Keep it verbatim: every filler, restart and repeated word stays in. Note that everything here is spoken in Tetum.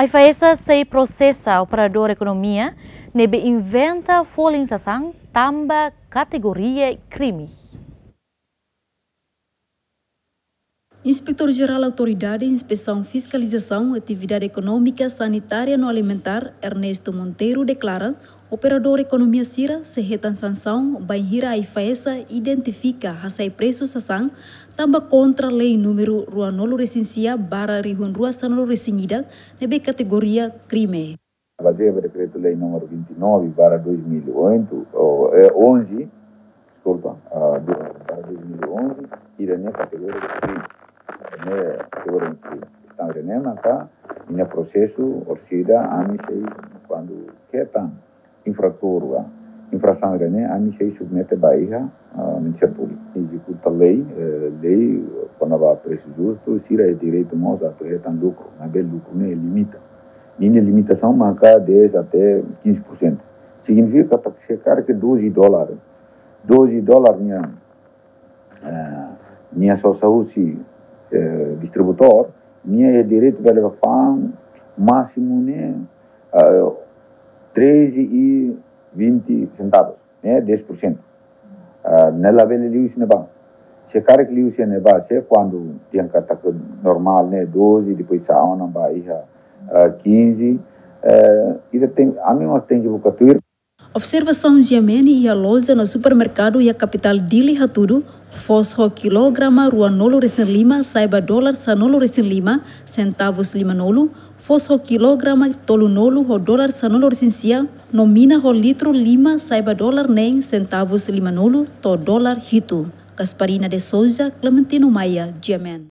AIFAESA sei prosesa operadór ekonomia ne'ebé inventa folin sasán tanba kategoria krime. Inspetór Jerál Autoridade Inspesaun Fiskalizasaun Atividade Ekonómika, Sanitária no Alimentár, Ernesto Monteiro, deklara operadór ekonomia sira sei hetan sansaun bainhira AIFAESA identifika hasai presu sasán tanba kontra lei númeru ruanulu-resin-sia barra rihun rua sanulu-resin-ida, ne'ebé kategoria krime. Bazeia ba Dekretu-Lei númeru vinte e nove barra dois mil e oito, ou, é, onze, deskulpa, ah, do, barra dois mil e onze, ida-ne'e kategoria krime. Ne'e kategoria krime. Entaun, ida-ne'e maka, iha prosesu, orsida, ami sei, kuandu hetan infratór, ah, infrasaun ida-ne'e, ami sei submete ba iha, ah, Ministériu Públiku. Ezekuta lei, eh, lei, kona-ba presu justu, sira iha direitu mós atu hetan lukru, maibé lukru ne'e limita. Ninia limitasaun maka dez até quinze por cento. Signifika katak se karik doze dólar, doze dólar nia, eh, nia sosa husi, eh, distribuidór, nia iha direitu bele fa'an másimu ne'e, eh, treze e vinte centavos, ne'e dez por cento. Ah, ne'e labele liu husi ne'ebá. Se karik liu husi ne'ebá, se kuandu tiha katak normál ne'e doze, depois sa'e ona ba iha, ah, quinze, eh, ita tenke, ami mós tenke buka tuir. Observasaun GMN iha loja no supermerkadu iha kapitál Dili hatudu, foos ho kilograma ruanulu-resin-lima sai ba dólar sanulu-resin-lima, sentavus limanulu, foos ho kilograma tolunulu ho dólar sanulu-resin-sia, no mina ho litru lima sai ba dólar neen, sentavus limanulu to'o dólar hitu. Gasparina de Souza, Clementino Maia, GMN.